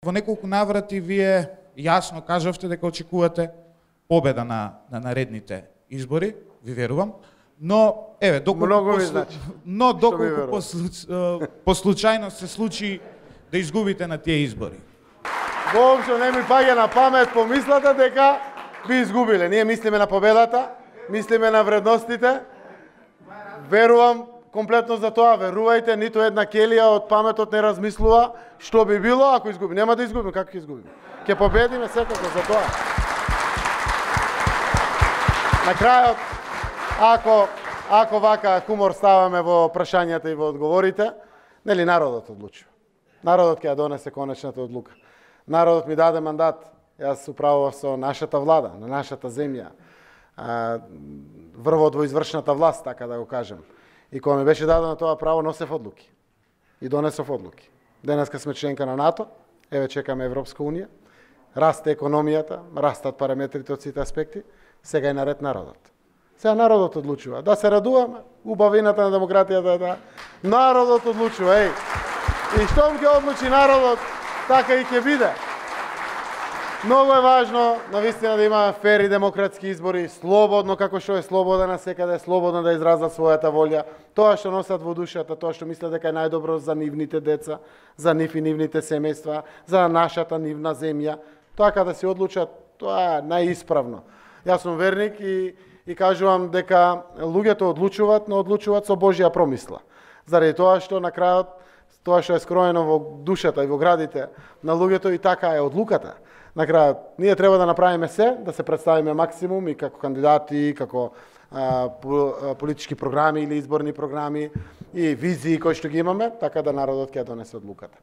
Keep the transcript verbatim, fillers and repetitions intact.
Во неколку наврати вие јасно кажавте дека очекувате победа на, на наредните избори, ви верувам, но еве доколку Много ми послу... значи. но Што ми доколку верувам? по, слу- по случајност се случи да изгубите на тие избори. Воопшто не ми паѓа на памет помислата дека би изгубиле. Ние мислиме на победата, мислиме на вредностите. Верувам комплетно за тоа, верувајте, ниту една келија од паметот не размислува што би било ако изгуби. Нема да изгубиме, како ќе изгубиме? Ќе победиме секако за тоа. На крајот, ако ако вака хумор ставаме во прашањата и во одговорите, нели народот одлучува. Народот ќе ја донесе конечната одлука. Народот ми даде мандат, јас управував со нашата влада, на нашата земја, а, врвот во извршната власт, така да го кажем. И кога ми беше дадено тоа право, носев одлуки. И донесов одлуки. Денеска сме членка на НАТО, еве чекаме Европска унија, расте економијата, растат параметрите од сите аспекти, сега е наред народот. Сега народот одлучува. Да се радуваме, убавината на демократијата е да народот одлучува, еј. И штом ќе одлучи народот, така и ќе биде. Многу е важно, навистина, да има фер и демократски избори, слободно, како што е слободен на секаде, слободно да изразат својата волја, тоа што носат во душата, тоа што мислат дека е најдобро за нивните деца, за нив и нивните семејства, за нашата нивна земја, така да се одлучат, тоа е најисправно. Јас сум верник и, и кажувам дека луѓето одлучуваат, но одлучуваат со Божја промисла. Заради тоа што на крајот, тоа што е скроено во душата и во градите на луѓето, и така е одлуката. На крајот, ние треба да направиме се, да се представиме максимум и како кандидати, како а, политички програми или изборни програми и визии кои што ги имаме, така да народот ќе ја донесе одлуката.